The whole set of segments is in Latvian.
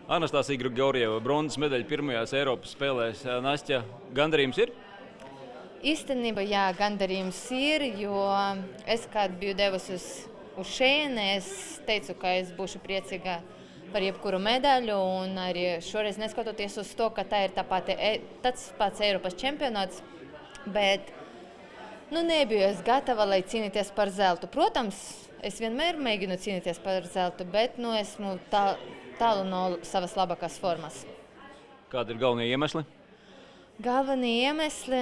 Anastasija Grigorjeva, bronzas medaļa pirmajās Eiropas spēlēs. Nastja, gandarījums ir? Īstenībā, jā, gandarījums ir, jo es, kad biju devusi uz šejieni, es teicu, ka es būšu priecīga par jebkuru medaļu, un arī šoreiz neskatoties uz to, ka tā ir tāds pats Eiropas čempionāts, bet nebiju es gatava, lai cīnīties par zeltu. Protams, es vienmēr mēģinu cīnīties par zeltu, bet esmu tālu no savas labākās formas. Kādi ir galvenie iemesli? Galvenie iemesli,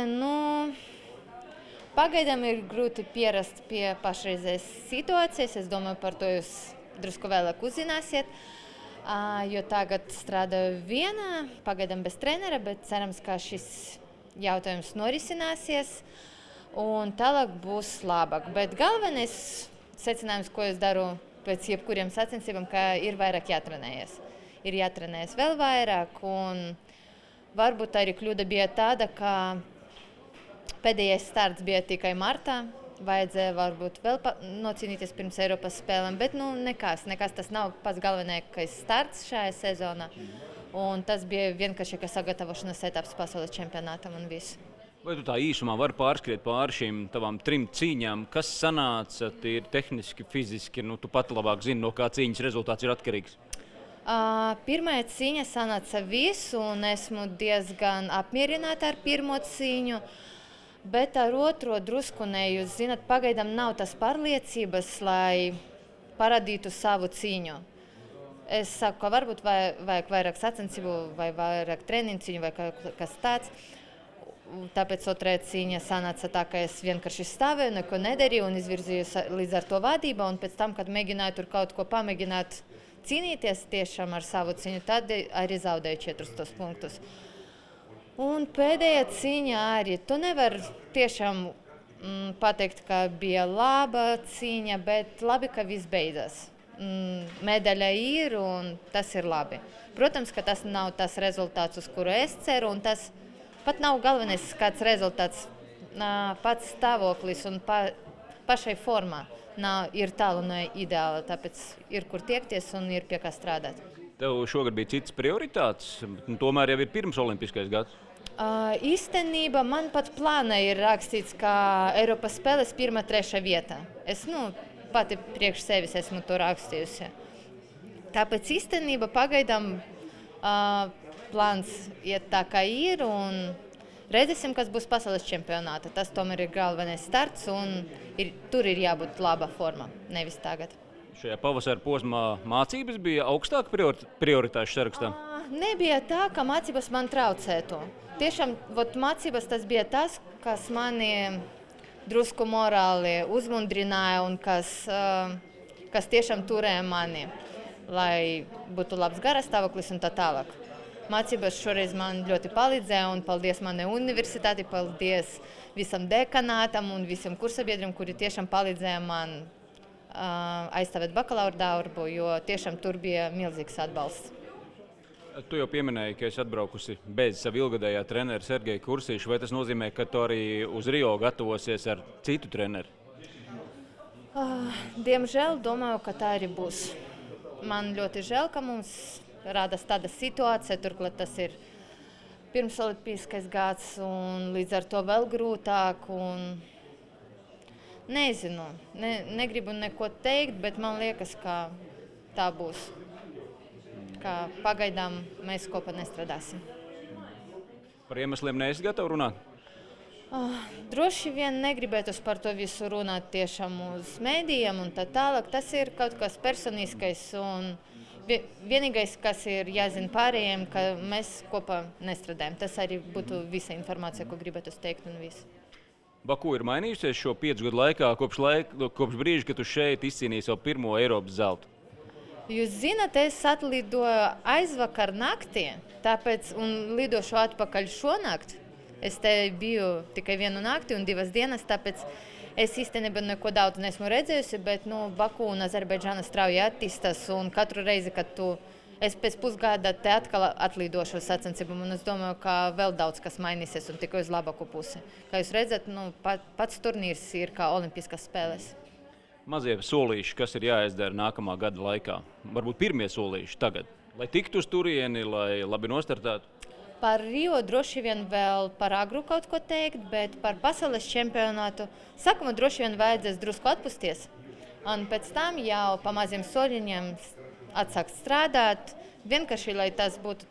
pagaidām ir grūti pierast pie pašreizējas situācijas. Es domāju, par to jūs drusku vēlāk uzzināsiet, jo tagad strādāju viena, pagaidām bez trenera, bet cerams, ka šis jautājums norisināsies un tālāk būs labāk. Bet galvenais secinājums, ko es daru pēc jebkuriem sacensībām, ka ir vairāk jātrenējies. Ir jātrenējas vēl vairāk, un varbūt arī kļūda bija tāda, ka pēdējais starts bija tikai martā. Vajadzēja varbūt vēl nocīnīties pirms Eiropas spēlēm, bet nekas. Tas nav pats galvenais starts šajā sezonā. Un tas bija vienkārši sagatavošanas etaps pasaules čempionātam un viss. Vai tu tā īsumā vari pārskriet pāri šīm tavām 3 cīņām? Kas sanāca tīri tehniski, fiziski? Tu pat labāk zini, no kā cīņas rezultāts ir atkarīgs. Pirmā cīņa sanāca visu, un esmu diezgan apmierināta ar pirmo cīņu. Bet ar otro drusku ne, jūs zināt, pagaidām nav tas pārliecības, lai parādītu savu cīņu. Es saku, ka varbūt vajag vairāk sacensību, vai vairāk treniņu cīņu, vai kas tāds. Tāpēc otrajā cīņa sanāca tā, ka es vienkārši stāvēju, neko nedarīju un izvirzīju līdz ar to vadību. Un pēc tam, kad mēģināju tur kaut ko pamēģināt cīnīties tiešām ar savu cīņu, tad arī zaudēju 4 punktus. Un pēdējā cīņa arī. Tu nevar tiešām pateikt, ka bija laba cīņa, bet labi, ka viss beidzas. Medaļa ir un tas ir labi. Protams, ka tas nav tas rezultāts, uz kuru es ceru, un tas pat nav galvenais kāds rezultāts. Pats stāvoklis un pašai formā ir tālu no ideāla, tāpēc ir kur tiekties un ir pie kā strādāt. Tev šogad bija citas prioritātes, tomēr jau ir pirms olimpiskais gads. Īstenībā man pat plānā ir rakstīts, ka Eiropas spēles 1–3 vieta. Es pati priekš sevis esmu to rakstījusi. Tāpēc īstenībā pagaidām plāns iet tā, kā ir, un redzēsim, kas būs pasaules čempionāta. Tas tomēr ir galvenais starts, un tur ir jābūt laba forma, nevis tagad. Šajā pavasara posmā mācības bija augstāk prioritāšu sarakstā? Nebija tā, ka mācības man traucētu. Tiešām mācības tas bija tas, kas mani drusku morāli uzmundrināja un kas tiešām turēja mani, lai būtu labs garastāvoklis un tā tālāk. Mācības šoreiz man ļoti palīdzēja, un paldies manai universitāti, paldies visam dekanātam un visiem kursabiedriem, kuri tiešām palīdzēja man aizstāvēt bakalaura darbu, jo tiešām tur bija milzīgs atbalsts. Tu jau pieminēji, ka esi atbraukusi bez sava ilgadējā trenera Sergeja Kursīša. Vai tas nozīmē, ka tu arī uz Rio gatavosies ar citu treneru? Diemžēl domāju, ka tā arī būs. Man ļoti žēl, ka mums rādās tāda situācija, turklāt tas ir pirms olimpiskais gads, un līdz ar to vēl grūtāk. Nezinu, negribu neko teikt, bet man liekas, ka tā būs. Ka pagaidām mēs kopā nestrādāsim. Par iemesliem neesi gatava runāt? Droši vien negribētu par to visu runāt tiešām uz mēdījiem un tā tālāk. Tas ir kaut kas personiskais, un vienīgais, kas ir jāzina pārējiem, ka mēs kopā nestrādājam. Tas arī būtu visa informācija, ko gribētu teikt un viss. Baku ir mainījusies šo 5 gadu laikā, kopš brīža, kad tu šeit izcīnīji savu pirmo Eiropas zeltu? Jūs zināt, es atlidoju aizvakar naktī, un lidošu atpakaļ šonakt. Es te biju tikai 1 nakti un 2 dienas, tāpēc es īstenībā neko daudz neesmu redzējusi, bet Baku un Azerbaidžāna strauji attīstās, un katru reizi, kad es pēc pusgada te atkal atlidošu uz sacensībām, un es domāju, ka vēl daudz kas mainīsies un tikai uz labāku pusi. Kā jūs redzat, pats turnīrs ir kā olimpiskās spēles. Mazie solīši, kas ir jāizdara nākamā gada laikā? Varbūt pirmie solīši tagad? Lai tiktu uz turieni, lai labi nostartētu? Par Rio droši vien vēl par agru kaut ko teikt, bet par pasaules čempionātu sākumā droši vien vajadzēs drusku atpūsties. Un pēc tam jau pa maziem soļiņiem atsākt strādāt, vienkārši, lai tas būtu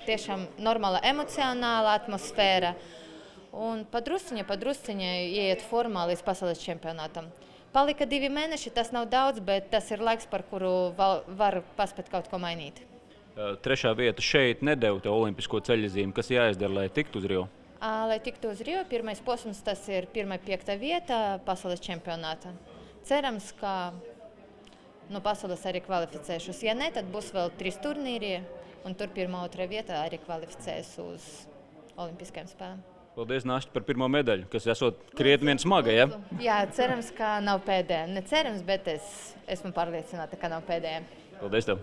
tiešām normāla emocionāla atmosfēra. Un padrusciņai ieiet formā līdz pasaules čempionātam. Palika 2 mēneši, tas nav daudz, bet tas ir laiks, par kuru var paspēt kaut ko mainīt. 3. vieta šeit nedeva tev olimpisko ceļazīmi. Kas jāizdara, lai tiktu uz Rio? Lai tiktu uz Rio, pirmais posms tas ir 1.5. vieta pasaules čempionātā. Cerams, ka no pasaules arī kvalificēšos. Ja ne, tad būs vēl 3 turnīri, un tur 1. 2. vieta arī kvalificēs uz olimpiskajām spēlēm. Paldies, Nasta, par pirmo medaļu, kas esot krietni vien smaga, ja? Jā, cerams, ka nav pēdējā. Ne cerams, bet es esmu pārliecināta, ka nav pēdējā. Paldies tev!